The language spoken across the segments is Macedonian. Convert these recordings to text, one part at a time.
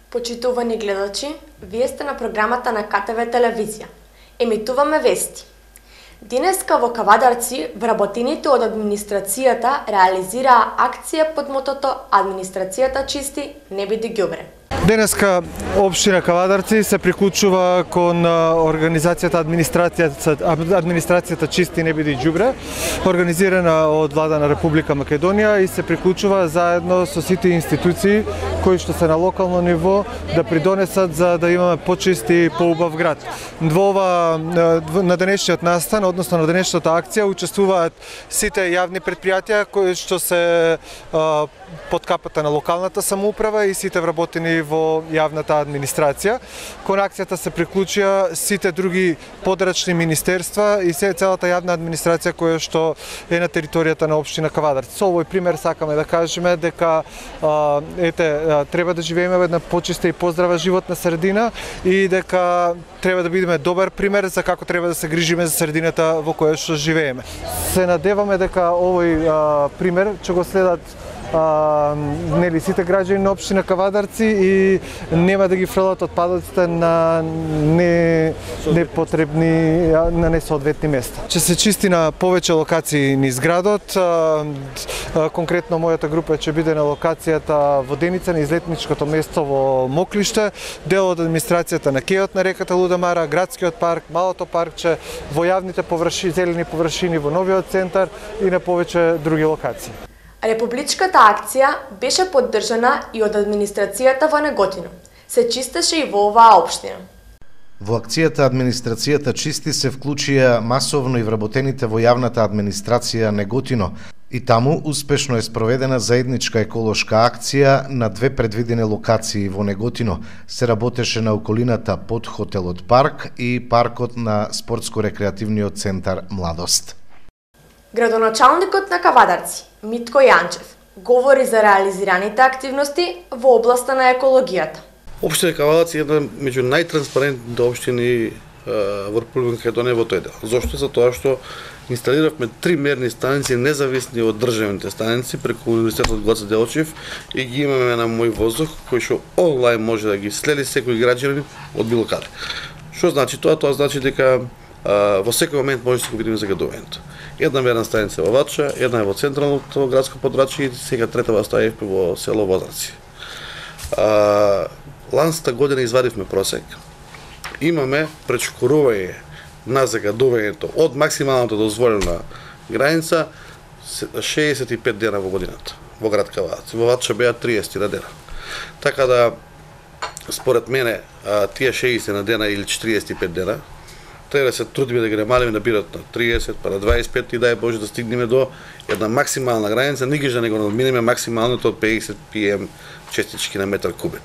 Почитувани гледачи, вие сте на програмата на КТВ телевизија. Емитуваме вести. Денеска во Кавадарци вработените од администрацијата реализираа акција под мотото "Администрацијата чисти, не биде ѓубре". Денеска општина Кавадарци се приклучува кон организацијата Администрацијата чисти, не биде ѓубре, организирана од Влада на Република Македонија и се приклучува заедно со сите институции кои што се на локално ниво да придонесат за да имаме почист и поубав град. На денешниот настан, односно на денешната акција, учествуваат сите јавни предпријатија кои што се под капата на локалната самоуправа и сите вработени во јавната администрација. Кон акцијата се приклучија сите други подрачни министерства и целата јавна администрација која што е на територијата на општина Кавадарци. Со овој пример сакаме да кажеме дека треба да живееме во една почиста и поздрава животна средина и дека треба да бидеме добар пример за како треба да се грижиме за средината во која што живееме. Се надеваме дека овој пример ќе го следат сите граѓани на општина Кавадарци и нема да ги фрлат отпадоците на непотребни, на несоодветни места. Ќе се чисти на повеќе локации низ градот. Конкретно мојата група ќе биде на локацијата Воденица, на излетничкото место во Моклиште, дел од администрацијата на кејот на реката Лудамара, градскиот парк, малото паркче, во јавните зелени површини во новиот центар и на повеќе други локации. Републичката акција беше поддржана и од администрацијата во Неготино. Се чистеше и во оваа општина. Во акцијата Администрацијата чисти се вклучија масовно и вработените во јавната администрација Неготино. И таму успешно е спроведена заедничка еколошка акција на две предвидени локации во Неготино. Се работеше на околината под хотелот Парк и паркот на спортско-рекреативниот центар Младост. Градоначалникот на Кавадарци, Митко Јанчев, говори за реализираните активности во областа на екологијата. Општина Кавадарци е една меѓу најтранспарентните општини во Република Македонија во тој дел. Зошто? Затоа што инсталиравме 3 мерни станици независни од државните станици преку Универзитетот Гоце Делчев и ги имаме на мој воздух кој што онлайн може да ги следи секој граѓанин од било каде. Што значи тоа? Тоа значи дека во секој момент може да се видиме загадувањето. Една мерна станица во Вача, една е во централното градско подрачје и сега третава ставивме во село Возраци. Ланската година извадивме просек. Имаме пречкорување на загадувањето од максималната дозволена граница 65 дена во годината во град Кавадарци. Во Вача беа 30 на дена. Така да според мене тие 60 на дена или 45 дена треба да се трудиме да ги намалиме да бидат на 30, па на 25 и дај Боже да стигнеме до една максимална граница, никогаш да не го надминеме максималното од 50 pm честички на метар кубен.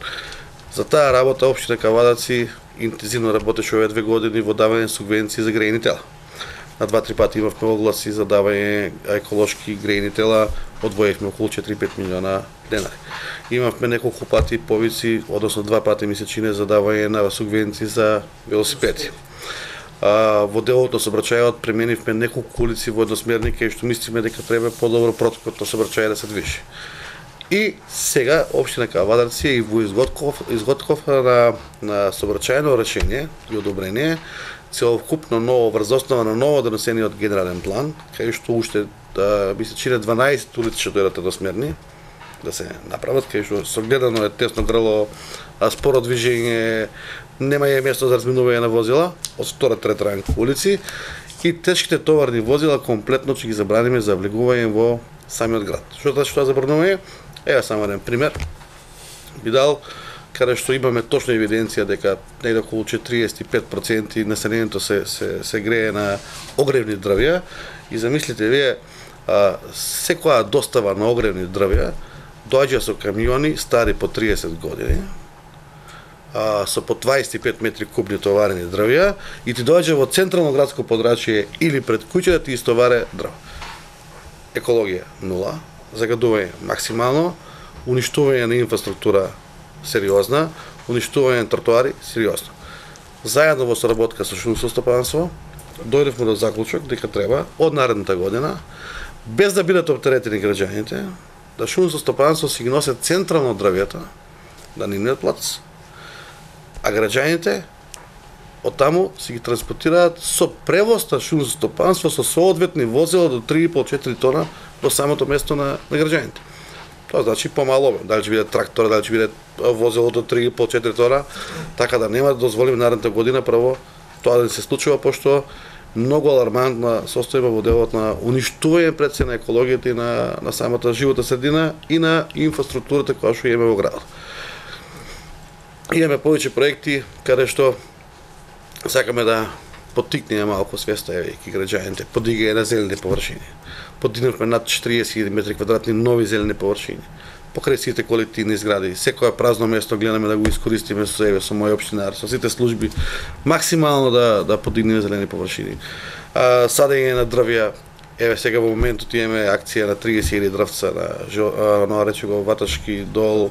За таа работа општина Кавадарци интензивно работеше овие 2 години во давање субвенции за грејни тела. На 2-3 пати имавме огласи за давање еколошки грејни тела, одвоивме околу 4-5 милиона денари. Имавме неколку пати повици, односно 2 пати месечине за давање на субвенции за велосипеди. Во делот на сообраќајот пременивме неколку улици во едносмерни кај што мислиме дека треба подобро протокот на сообраќај да се движи. И сега општина Кавадарци и во изготвка на сообраќајно решение и одобрение целокупно ново врзоснова на ново донесениот генерален план, кај што уште ми се чини 12 улици ќе дојдат едносмерни да се направат, кај што согледано е тесно грло, споро движење, нема е место за разминување на возила од 2-3 ранг улици и тешките товарни возила комплетно ќе ги забраниме за влегување во самиот град. Што значи тоа забранување? Ева само еден пример. Би дал каде што имаме точна евиденција дека некаде околу 45% населението се грее на огревни дрвја и замислите вие секоја достава на огревни дрвја доаѓа со камиони стари по 30 години, со по 25 метри кубни товарени дрвја и ти доаѓа во централно градско подрачје или пред куќа да ти истоваре дрво. Екологија нула, загадување максимално, уништување на инфраструктура сериозна, уништување на тротоари сериозно. Заедно во соработка со шумско стопанство, дојдевме до заклучок дека треба од наредната година, без да бидат оптеретени граѓаните, да шумско стопанство си ги носат централно дрвјата, да нивниот плац, а граѓаните од таму си ги транспортираат со превоз на шумско стопанство со соодветни возила до 3,5-4 тона до самото место на граѓаните. Тоа значи помало, дали ќе биде трактор, дали ќе биде возило до 3,5-4 тона, така да нема да дозволиме наредната година прво тоа да се случува, пошто многу алармантна состојба во делот на уништување пред се на екологијата и на самата животна средина и на инфраструктурата која што имаме во градот. Имаме повеќе проекти каде што сакаме да поттикнеме малку свеста и граѓаните, подигање на зелени површини. Подигнавме над 40.000 метри квадратни нови зелени површини. Покрај сите колективни згради, секое празно место гледаме да го искористиме со себе, со мој општинар, со сите служби, максимално да подигнеме зелени површини. Садење на дрвја, еве сега во моментот имаме акција на 30.000 дрвца на речего Ваташки дол,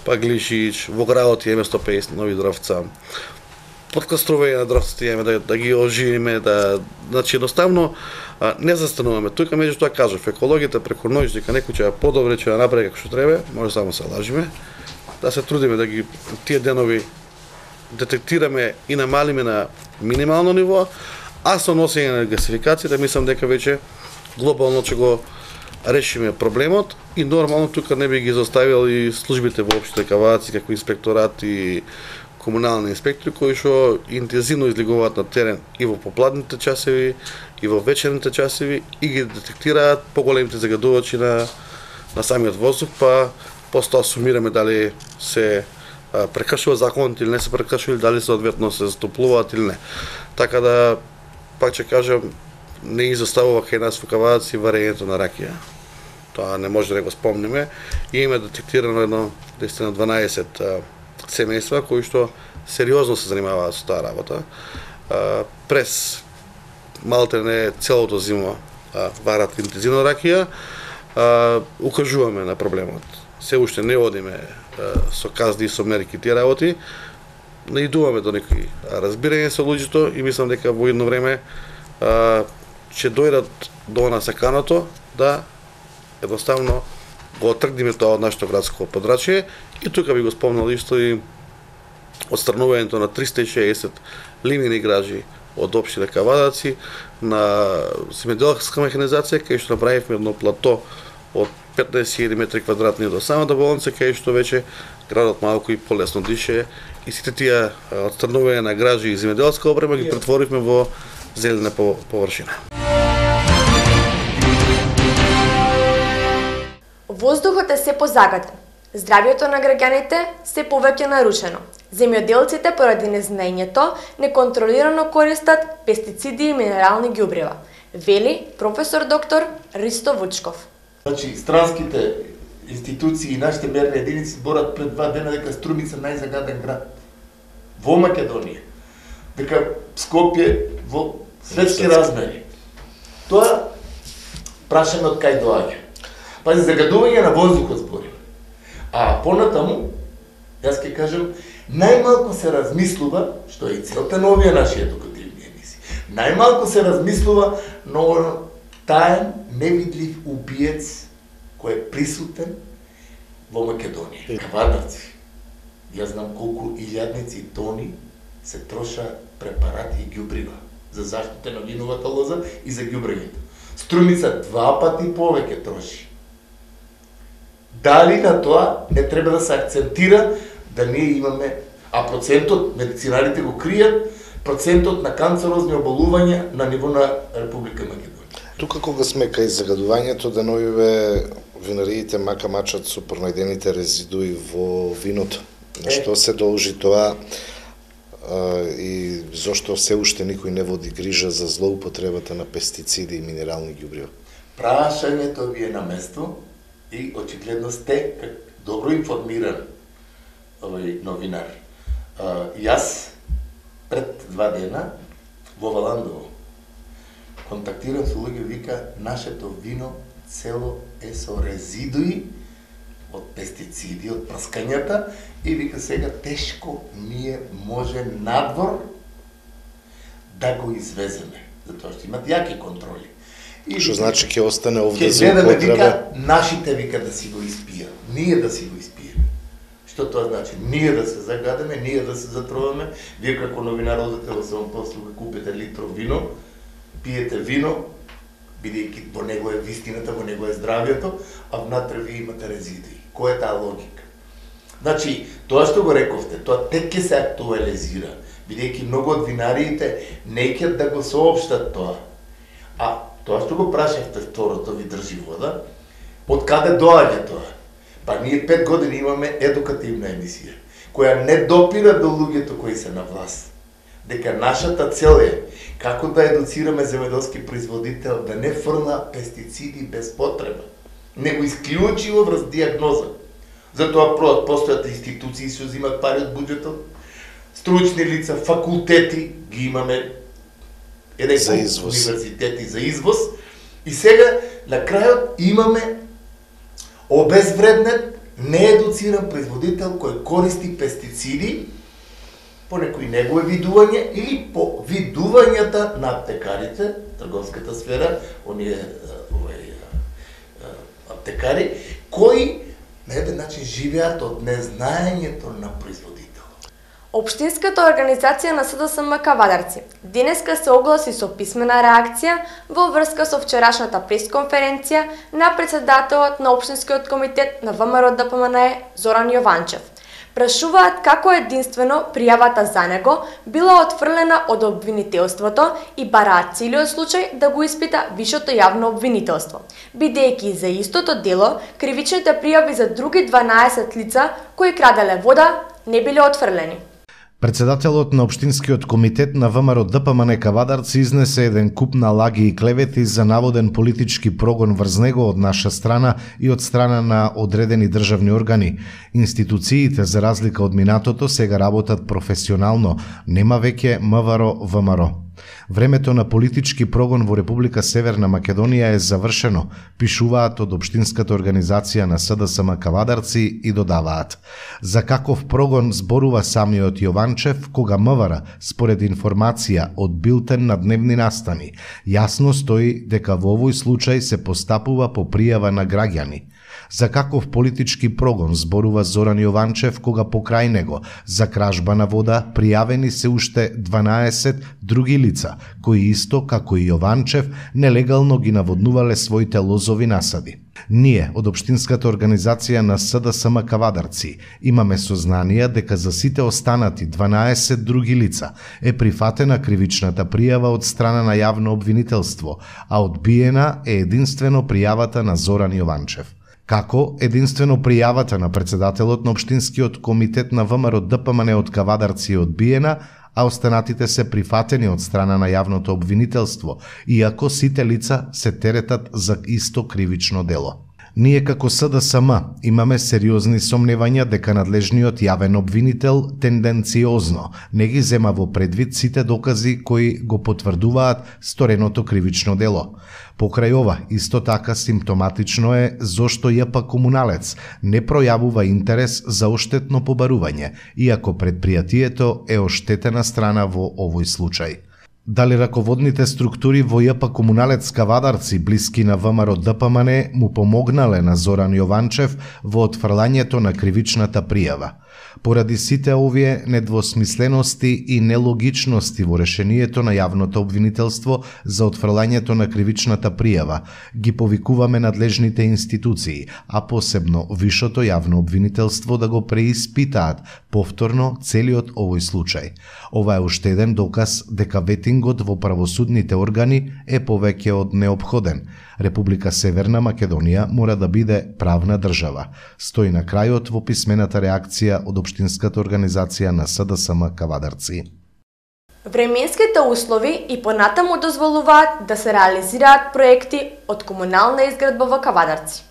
Паглишич, во градот имаме 150 нови дрвца. Подкастровање на дрвцата имаме да ги оживиме, значи едноставно не застануваме. Тука меѓутоа кажав, екологијата преку ноќ дека некој ќе подобре ќе направи како што треба, може само се лажиме, да се трудиме да ги тие денови детектираме и намалиме на минимално ниво, а со носење на гасификацијата мислам дека веќе глобално ќе го решиме проблемот и нормално тука не би ги заставил и службите во општина Кавадарци како инспекторат и комунални инспектори кои што интензивно излегуваат на терен и во попладните часови и во вечерните часови и ги детектираат поголемите загадувачи на самиот воздух, па после тоа сумираме дали се прекршува законот или не се прекршува, дали соодветно се застоплуваат или не. Така да, пак ќе кажам, не изоставува кај нас во Кавадарци варењето на ракија. Тоа не може да го спомниме. И има детектирано едно 12 семејства кои што сериозно се занимаваат со таа работа. През малте не целото зима варат интензивно ракија, укажуваме на проблемот. Се уште не одиме со казни и со мерки тие работи, наидуваме до некои разбирање со луѓето и мислам дека во едно време ќе дојдат до нас саканото да едноставно го отргнеме тоа од нашето градско подрачје и тука би го спомнал исто и отстранувањето на 360 лимени гражи од општина Кавадарци на земјоделска механизација, кај што направивме едно плато од 15.000 метри квадратни до самата болница, кај што веќе градот малку и полесно дише и сите тие отстранување на гражи и земјоделска опрема ги претворивме во зелена површина. Воздухот е се позагатен. Здравјето на граѓаните се повеќе нарушено. Земјоделците поради незнаењето неконтролирано користат пестициди и минерални ѓубрива, вели професор доктор Ристо Вучков. Значи, странските институции и нашите мерни единици зборат пред 2 дена дека Струмица најзагаден град во Македонија, дека Скопје во светски размери. Тоа прашаме од кај доаѓа. Пази, загадување на воздухот зборим. А понатаму, јас ќе кажам, најмалку се размислува, што е и целта на овие наши едукативни емисии, најмалку се размислува на таен, невидлив убиец кој е присутен во Македонија. Кавадарци. Јас знам колку илјадници тони се троша препарати и ѓубрива за заштита на виновата лоза и за ѓубрењето. Струмица 2 пати повеќе троши. Дали на тоа не треба да се акцентира да ние имаме, а процентот, медицинарите го кријат, процентот на канцерозни оболувања на ниво на Република Македонија. Тука кога сме кај загадувањето, деновиве винариите мака мачат со пронајдените резидуи во виното. На што се должи тоа и зошто се уште никој не води грижа за злоупотребата на пестициди и минерални ѓубрива? Прашањето ви е на место и очигледно сте добро информиран новинар. Јас пред 2 дена во Валандово контактирам со луѓе, вика, нашето вино цело е со резидуи од пестициди, од прскањата и вика сега тешко ние може надвор да го извеземе. затоа што имат јаки контроли. Што значи ќе остане овде ќе за гледаме, употреба? вика, нашите вика да си го испијат, ние да си го испиеме. Што тоа значи? Ние да се загадеме, ние да се затроваме, вие како новинар одете во самопослуга, купите литров вино, пиете вино, бидејќи во него е вистината, во него е здравието, а внатре вие имате резидуи. Која е таа логика? Значи, тоа што го рековте, тоа тек ќе се актуализира, бидејќи многу од винариите не ќе да го соопштат тоа. А тоа што го прашавте второто ви држи вода, од каде доаѓа тоа? Па ние 5 години имаме едукативна емисија, која не допира до луѓето кои се на власт. Дека нашата цел е како да едуцираме земјоделски производител да не фрла пестициди без потреба, него исклучиво врз диагноза. Затоа постојат институции што земат пари од буџетот, стручни лица, факултети, ги имаме еден за извоз. Универзитети за извоз, и сега на крајот имаме обезвреднет, неедуциран производител кој користи пестициди по некои негови видување или по видувањата на аптекарите, трговската сфера, оние аптекари, кои на еден начин живеат од незнаењето на производител. Општинската организација на СДСМ Кавадарци денеска се огласи со писмена реакција во врска со вчерашната пресконференција на председателот на Општинскиот комитет на ВМРО ДПМН Зоран Јованчев. Прашуваат како единствено пријавата за него била отфрлена од обвинителството и бараат целиот случај да го испита Вишето јавно обвинителство, бидејќи за истото дело кривичните пријави за други 12 лица кои краделе вода не биле отфрлени. Председателот на Општинскиот комитет на ВМРО ДПМН Кавадарци изнесе еден куп на лаги и клевети за наводен политички прогон врз него од наша страна и од страна на одредени државни органи. Институциите, за разлика од минатото, сега работат професионално, нема веќе МВР-ВМРО. Времето на политички прогон во Република Северна Македонија е завршено, пишуваат од Општинската организација на СДСМ Кавадарци и додаваат. За каков прогон зборува самиот Јованчев, кога МВР, според информација од билтен на дневни настани, јасно стои дека во овој случај се постапува по пријава на граѓани. За каков политички прогон зборува Зоран Јованчев, кога покрај него за кражба на вода пријавени се уште 12 други лица, кои исто како и Јованчев нелегално ги наводнувале своите лозови насади. Ние, од Општинската организација на СДСМ Кавадарци, имаме сознание дека за сите останати 12 други лица е прифатена кривичната пријава од страна на јавно обвинителство, а одбиена е единствено пријавата на Зоран Јованчев. Како единствено пријавата на председателот на Општинскиот комитет на ВМРО ДПМН од Кавадарци е одбиена, а останатите се прифатени од страна на јавното обвинителство, иако сите лица се теретат за исто кривично дело. Ние како СДСМ имаме сериозни сомневања дека надлежниот јавен обвинител тенденциозно не ги зема во предвид сите докази кои го потврдуваат стореното кривично дело. Покрај ова, исто така симптоматично е зошто ЈП Комуналец не пројавува интерес за оштетно побарување, иако предпријатието е оштетена страна во овој случај. Дали раководните структури во ЈП Комуналец Кавадарци, блиски на ВМРО ДПМН, му помогнале на Зоран Јованчев во отфрлањето на кривичната пријава? Поради сите овие недвосмислености и нелогичности во решението на јавното обвинителство за отфрлањето на кривичната пријава, ги повикуваме надлежните институции, а посебно Вишото јавно обвинителство да го преиспитаат повторно целиот овој случај. Ова е уште еден доказ дека ветингот во правосудните органи е повеќе од неопходен. Република Северна Македонија мора да биде правна држава, стои на крајот во писмената реакција од Општинската организација на СДСМ Кавадарци. Временските услови и понатаму дозволуваат да се реализираат проекти од комунална изградба во Кавадарци.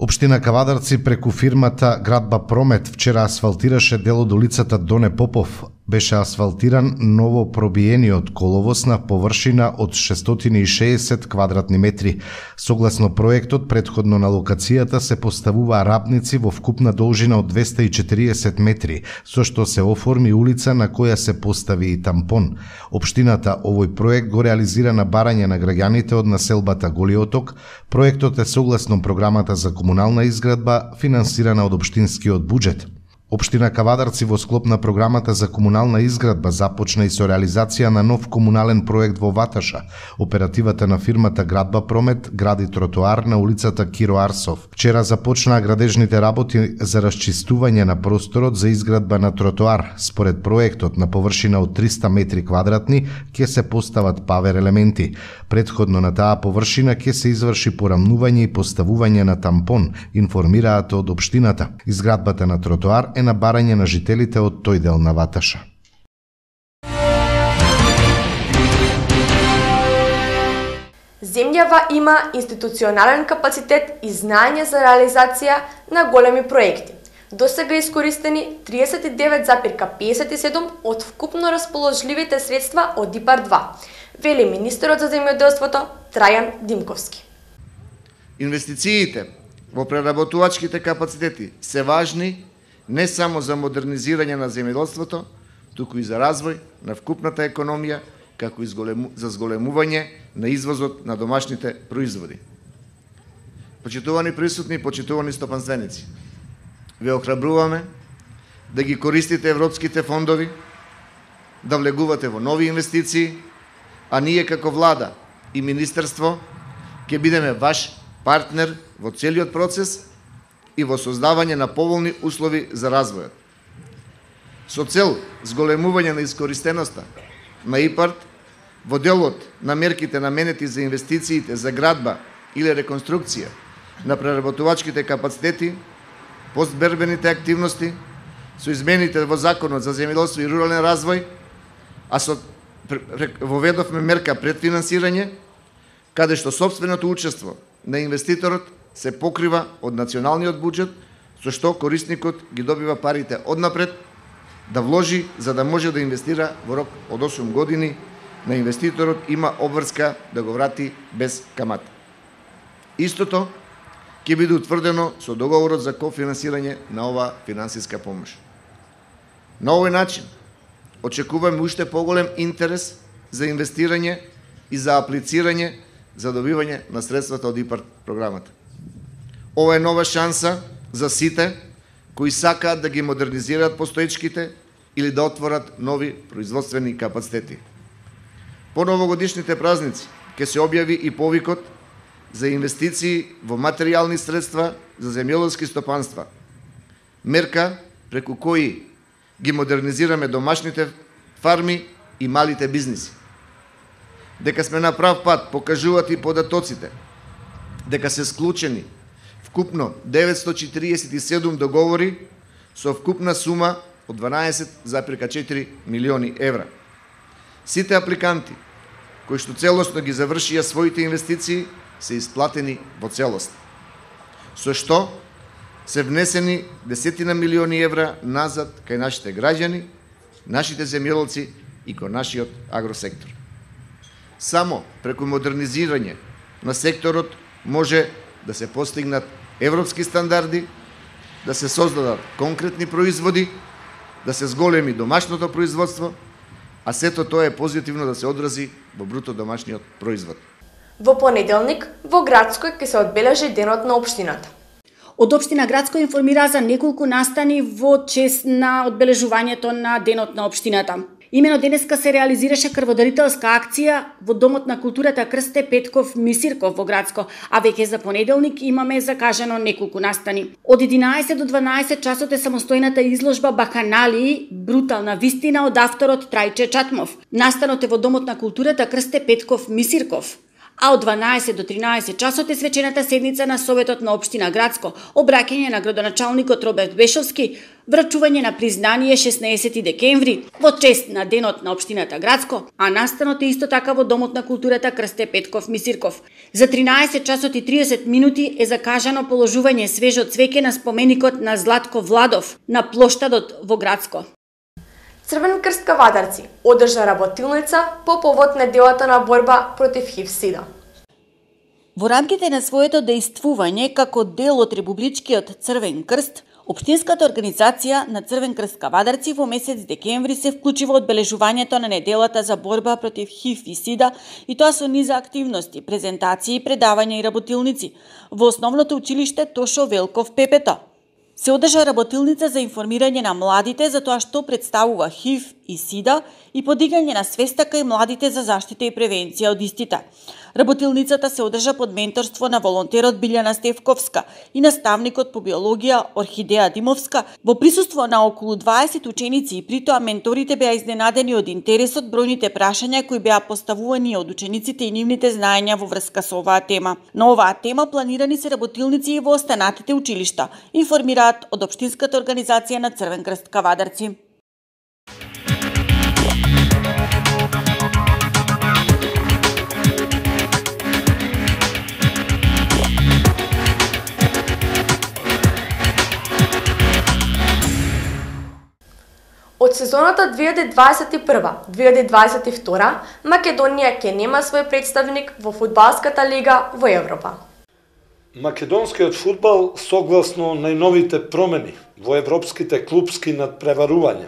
Општина Кавадарци преку фирмата Градба Промет вчера асфалтираше дел од улицата Доне Попов, Беше асфалтиран ново пробиениот коловоз на површина од 660 квадратни метри. Согласно проектот, претходно на локацијата се поставува рапници во вкупна должина од 240 метри, со што се оформи улица на која се постави и тампон. Општината овој проект го реализира на барање на граѓаните од населбата Голиоток. Проектот е согласно програмата за комунална изградба, финансирана од општинскиот буџет. Општина Кавадарци во склоп на програмата за комунална изградба започна и со реализација на нов комунален проект во Ваташа. Оперативата на фирмата Градба Промет гради тротоар на улицата Киро Арсов. Вчера започнаа градежните работи за расчистување на просторот за изградба на тротоар. Според проектот, на површина од 300 метри квадратни ќе се постават павер елементи. Предходно на таа површина ќе се изврши порамнување и поставување на тампон, информираат од општината. Изградбата на тротоар е на барање на жителите од тој дел на Ваташа. Земјава има институционален капацитет и знаење за реализација на големи проекти. Досега искористени 39,57 од вкупно расположливите средства од ИПАР-2, вели министерот за земјоделството Трајан Димковски. Инвестициите во преработувачките капацитети се важни не само за модернизирање на земјоделството, туку и за развој на вкупната економија, како и за зголемување на извозот на домашните производи. Почитувани присутни и почитувани стопанственици, ве охрабруваме да ги користите европските фондови, да влегувате во нови инвестиции, а ние како влада и министерство ќе бидеме ваш партнер во целиот процес и во создавање на поволни услови за развојот. Со цел зголемување на искористеноста на ИПАР во делот на мерките наменети за инвестициите за градба или реконструкција на преработувачките капацитети, постбербените активности, со измените во Законот за земјоделство и рурален развој, а воведовме мерка предфинансирање, каде што сопственото учество на инвеститорот се покрива од националниот буџет, со што корисникот ги добива парите однапред да вложи за да може да инвестира во рок од 8 години. На инвеститорот има обврска да го врати без камата. Истото ќе биде утврдено со договорот за кофинансирање на ова финансиска помош. На овој начин очекуваме уште поголем интерес за инвестирање и за аплицирање за добивање на средствата од ИПАР програмата. Ова е нова шанса за сите кои сакаат да ги модернизираат постоечките или да отворат нови производствени капацитети. По новогодишните празници ќе се објави и повикот за инвестиции во материјални средства за земјоделски стопанства. Мерка преку кои ги модернизираме домашните фарми и малите бизниси. Дека сме на прав пат покажуваат и податоците, дека се склучени вкупно 947 договори со вкупна сума од 12,4 милиони евра. Сите апликанти кои што целосно ги завршија своите инвестиции се исплатени во целост, со што се внесени десетина милиони евра назад кај нашите граѓани, нашите земјоделци и кај нашиот агросектор. Само преку модернизирање на секторот може да се постигнат европски стандарди, да се создадат конкретни производи, да се зголеми домашното производство, а сето тоа е позитивно да се одрази во бруто домашниот производ. Во понеделник во Градско ќе се одбележи денот на општината. Од општина Градско информира за неколку настани во чест на одбележувањето на денот на општината. Имено денеска се реализираше крводарителска акција во Домот на културата Крсте Петков Мисирков во Градско, а веќе за понеделник имаме закажано неколку настани. Од 11 до 12 часот е самостојната изложба Баканалии, брутална вистина од авторот Трајче Чатмов. Настанот е во Домот на културата Крсте Петков Мисирков. А од 12 до 13 часот е свечената седница на Советот на општина Градско, обраќање на градоначалникот Роберт Бешовски, врачување на признание 16 декември во чест на денот на општината Градско, а настанот е исто така во Домот на културата Крсте Петков Мисирков. За 13 часот и 30 минути е закажано положување свежо цвеќе на споменикот на Златко Владов на плоштадот во Градско. Црвен крст Кавадарци одржа работилница по повод неделата на борба против ХИВ-СИДА. Во рамките на своето дејствување како дел од Републичкиот Црвен крст, Општинската организација на Црвен крст Кавадарци во месец декември се вклучи во одбележувањето на неделата за борба против ХИВ и СИДА, и тоа со низа активности, презентации, предавања и работилници во основното училиште Тошо Велков Пепето. Се одржа работилница за информирање на младите за тоа што представува ХИВ и СИДА и подигање на свеста кај младите за заштита и превенција од истите. Работилницата се одржа под менторство на волонтерот Билјана Стевковска и наставникот по биологија Орхидеја Димовска во присуство на околу 20 ученици, и притоа менторите беа изненадени од интересот, бројните прашања кои беа поставувани од учениците и нивните знаења во врска со оваа тема. На оваа тема планирани се работилници и во останатите училишта, информираат од Општинската организација на Црвен крст Кавадарци. Од сезоната 2021-2022 Македонија ќе нема свој представник во фудбалската лига во Европа. Македонскиот фудбал, согласно најновите промени во европските клупски надпреварувања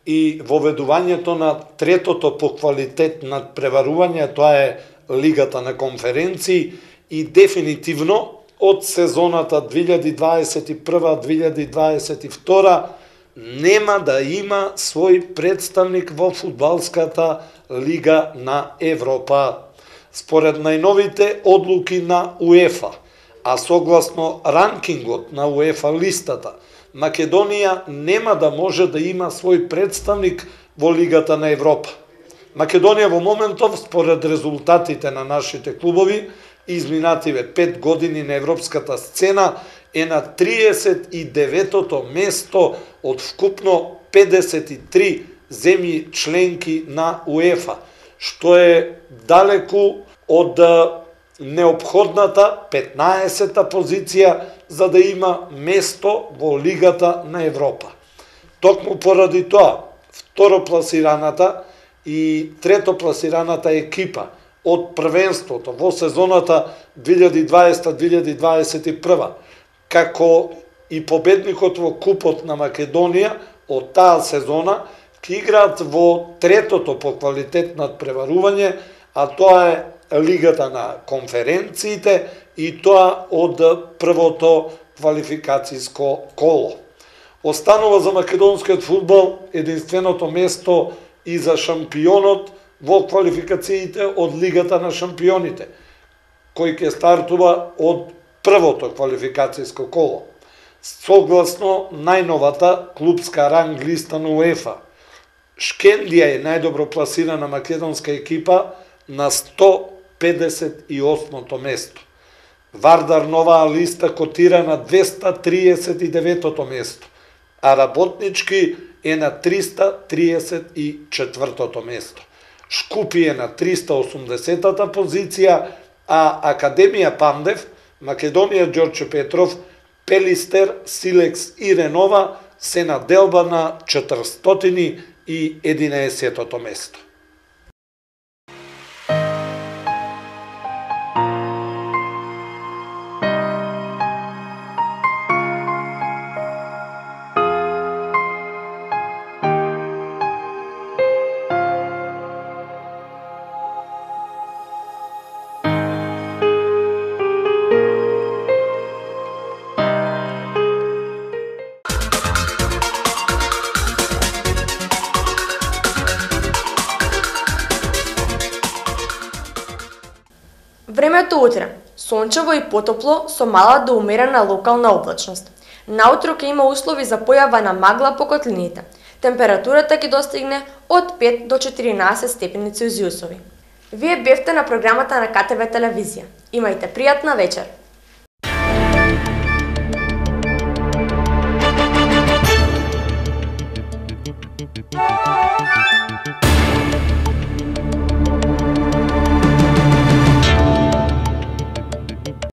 и воведувањето на третото по квалитет надпреварување, тоа е Лигата на конференции, и дефинитивно од сезоната 2021-2022 нема да има свој представник во фудбалската Лига на Европа. Според најновите одлуки на УЕФА, а согласно ранкингот на УЕФА листата, Македонија нема да може да има свој представник во Лигата на Европа. Македонија во моментов, според резултатите на нашите клубови, изминативе 5 години на европската сцена, е на 39-то место од вкупно 53 земји членки на УЕФА, што е далеку од неопходната 15-та позиција за да има место во Лигата на Европа. Токму поради тоа, второпласираната и третопласираната екипа од првенството во сезоната 2020-2021, како и победникот во Купот на Македонија од таа сезона, ќе играат во третото по квалитет надпреварување, а тоа е Лигата на конференциите, и тоа од првото квалификацијско коло. Останува за македонскиот фудбал единственото место и за шампионот во квалификациите од Лигата на шампионите, кој ќе стартува од првото квалификацијско коло. Согласно најновата клубска ранг листа на УЕФА, Шкендија е најдобро пласирана македонска екипа на 158-то место. Вардар на оваа листа котира на 239-то место, а Работнички е на 334-то место. Шкупи е на 380-та позиција, а Академија Пандев, Македонија Ѓорче Петров, Пелистер, Силекс и Ренова се на делба на 411-то место. Времето утре, сончево и потопло со мала до умерена локална облачност. Наутро ќе има услови за појава на магла по котлините. Температурата ќе достигне од 5 до 14 степени Целзиусови. Вие бевте на програмата на КТВ телевизија. Имајте пријатна вечер.